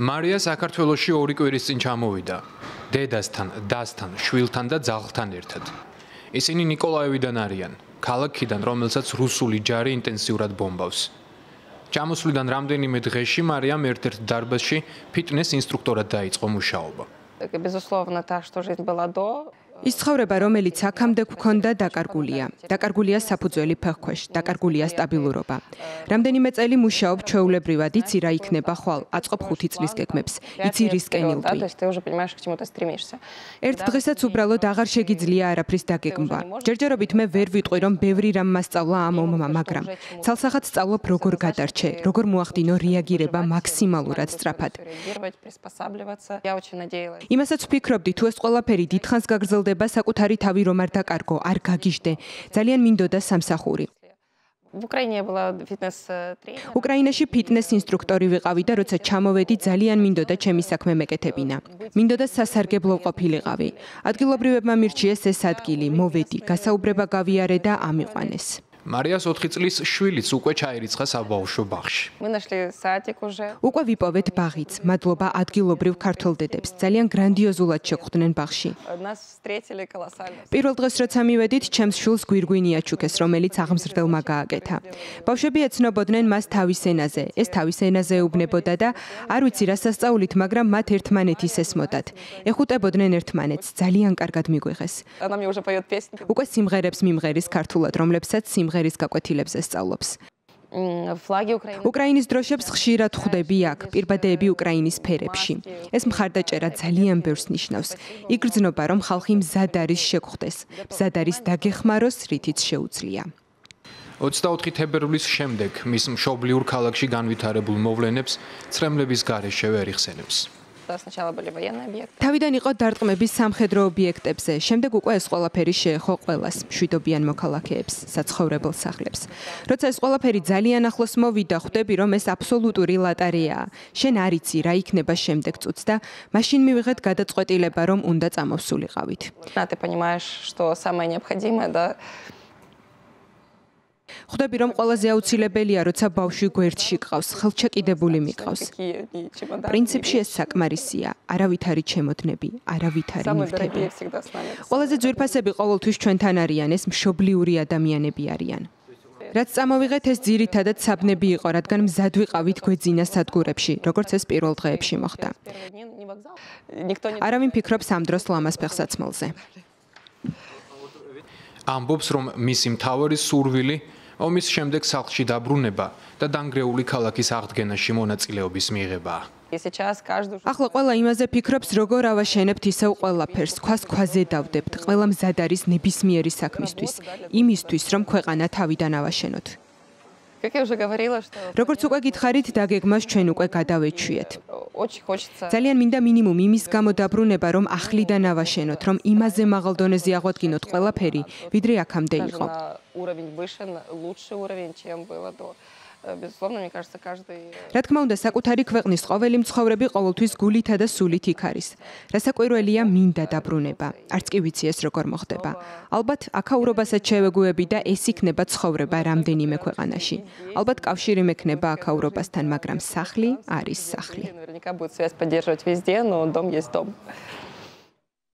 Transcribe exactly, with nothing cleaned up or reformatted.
მარია საქართველოში ორი კვირის წინ ჩამოვიდა. დედასთან, დასთან, შვილთან და ძაღლთან ერთად. ისინი ნიკოლაევიდან არიან, ქალაქიდან, რომელსაც რუსული ჯარი ინტენსიურად ბომბავს. ჩამოსვლიდან რამდენიმე დღეში მარიამ ერთ-ერთ დარბაზში ფიტნეს ინსტრუქტორად დაიწყო მუშაობა. Безусловно, так, что жизнь была до. ის ცხოვრება, რომელიც აქამდე გვქონდა, დაკარგულია. დაკარგულია საფუძველი ფეხქვეშ, დაკარგულია სტაბილურობა. რამდენიმე წელი მუშაობ ჩვეულებრივად, იცი რა იქნება ხვალ, აწყობ ხუთი წლის გეგმებს, იცი რისკენ ილვი. ერთ დღესაც უბრალოდ აღარ შეგიძლია არაფრის დაგეგმვა. ჯერჯერობით მე ვერ ვიტყვი, რომ ბევრი რამ მასწავლა ამ ომმა, მაგრამ ცალსახად სწავლობ, როგორ გადარჩე, როგორ მოახდინო რეაგირება მაქსიმალურად სწრაფად. იმასაც ვფიქრობდი, თუ ეს ყველაფერი დიდხანს გაგრძელდება, საკუთარი თავი რომ არ დაკარგო, არ გაგიჟდე. ძალიან მინდოდა სამსახური. უკრაინაში ფიტნეს ინსტრუქტორი ვიყავი და როცა ჩამოვედი, ძალიან მინდოდა ჩემი საქმე მეკეთებინა. მინდოდა სასარგებლო ყოფილიყავი. ადგილობრივებმა მირჩიეს ეს ადგილი, მოვედი, გასაუბრება გავიარე და ამიყვანეს. მარიას ოთხი წლის შვილიც უკვე ჩაირიცხა საბავშვო ბაღში. უკვე ვიპოვეთ ბაღიც, მადლობა ადგილობრივ ქართველ დედებს, ძალიან გრანდიოზულად შეხვდნენ ბაღში. პირველ დღეს როცა მივედით, ჩემს შვილს გვირგვინი აჩუქეს, რომელიც აღმზრდელმა გააკეთა. ბავშვები ეცნობოდნენ მას თავის ენაზე, ეს თავის ენაზე ეუბნებოდა და არ ვიცი რა სასწაულით, მაგრამ მათ ერთმანეთის ესმოდათ. ეხუტებოდნენ ერთმანეთს, ძალიან კარგად მიგვიღეს. უკვე სიმღერებს მიმღერის ქართულად, რომლებსაც სიმღერის გაკვეთილებზე სწავლობს. უკრაინის დროშებს ხშირად ხვდები აქ, პირბადეები უკრაინის ფერებში. ეს მხარდაჭერა ძალიან ბევრს ნიშნავს. იგრძნობა, რომ ხალხი მზად არის შეგვხვდეს, მზად არის დაგეხმაროს, რითიც შეუძლია. ოცდაოთხი თებერვლის შემდეგ მის მშობლიურ ქალაქში განვითარებულ მოვლენებს ცრემლების გარეშე ვერ იხსენებს. თავიდან იყო დარტყმები სამხედრო ობიექტებზე, შემდეგ უკვე ეს ყველაფერი შეეხო ყველას, მშვიდობიან მოქალაქეებს, საცხოვრებელ სახლებს. როცა ეს ყველაფერი ძალიან ახლოს მოვიდა, ხვდები, რომ ეს აბსოლუტური ლატარეაა. შენ არ იცი რა იქნება შემდეგ წუთს და მაშინ მივიღეთ გადაწყვეტილება, რომ უნდა წამოვსულიყავით. ხვდები, რომ ყველაზე აუცილებელია, როცა ბავშვი გვერდში გყავს, ხელჩაკიდებული მიყავს. პრინციპში ეს საკმარისია, არავითარი ჩემოდნები, არავითარი ნივთები. ყველაზე ძვირფასები ყოველთვის ჩვენთან არიან, ეს მშობლიური ადამიანები არიან. რაც წამოვიღეთ, ეს ძირითადად საბნები იყო, რადგან მზად ვიყავით გვეძინა სადგურებში, როგორც ეს პირველ დღეებში მოხდა. არავინ ფიქრობს ამ დროს ლამაზ ფეხსაცმელზე. ამბობს, რომ მისი მთავარი სურვილი ომის შემდეგ სახლში დაბრუნება და დანგრეული ქალაქის აღდგენაში მონაწილეობის მიღებაა. ახლა ყველა იმაზე ფიქრობს, როგორ ავაშენებთ ისევ ყველაფერს, ქვას ქვაზე დავდებთ, ყველა მზად არის ნებისმიერი საქმისთვის, იმისთვის, რომ ქვეყანა თავიდან ავაშენოთ. როგორც უკვე გითხარით, დაგეგმას ჩვენ უკვე გადავეჩვიეთ. ძალიან მინდა მინიმუმ იმის გამო დაბრუნება, რომ ახლიდან ავაშენოთ, რომ იმაზე მაღალ დონეზე აღვადგინოთ ყველაფერი, ვიდრე აქამდე იყო. რა თქმა უნდა, საკუთარი ქვეყნის ყოველი მცხოვრები ყოველთვის გულითა და სულით იქ არის. რასაკვირველია, მინდა დაბრუნება. არც კი ვიცი ეს როგორ მოხდება. ალბათ აქაურობასაც შევეგუები და ეს იქნება ცხოვრება რამდენიმე ქვეყანაში. ალბათ კავშირი მექნება აქაურობასთან, მაგრამ სახლი არის სახლი.